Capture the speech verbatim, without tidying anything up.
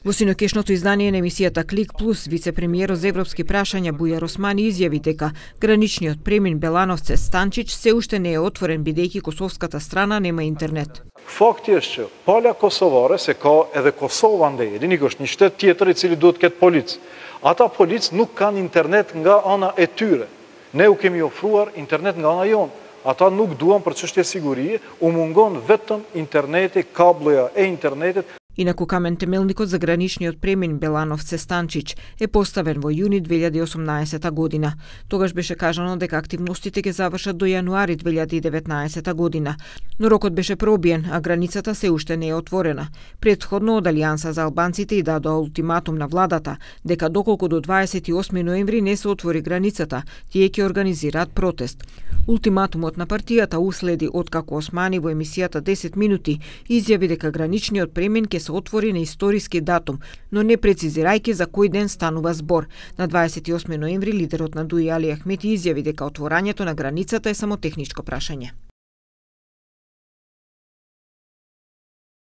Во синокешното издание на емисијата Клик Плюс, вице-премиерот за европски прашања Бујар Османи изјави дека граничниот премин Белановце-Станчич се уште не е отворен бидејќи косовската страна нема интернет. Факти е че палја косоваре се као еде Косова нде, еди никош ни штет тjetër i cili duhet ket polic. Ata polic nuk kanë internet nga ana e tyre. Ne u kemi ofruar internet nga ana jon. Ata nuk duan për çështje sigurie, u mungon vetëm interneti, kabloja e internetit. Инаку камен темелникот за граничниот премин Белановце-Станчич е поставен во јуни две илјади и осумнаесета година. Тогаш беше кажано дека активностите ќе завршат до јануари две илјади и деветнаесета година, но рокот беше пробиен, а границата се уште не е отворена. Претходно од Алијанса за албанците и дадоа ултиматум на владата дека доколку до дваесет и осми ноември не се отвори границата, тие ќе организираат протест. Ултиматумот на партијата уследи откако Османи во емисијата десет минути изјави дека граничниот премин ќе се отвори на историски датум, но не прецизирајќи за кој ден станува збор. На дваесет и осми ноември лидерот на ДУИ Али Ахмети изјави дека отворањето на границата е само техничко прашање.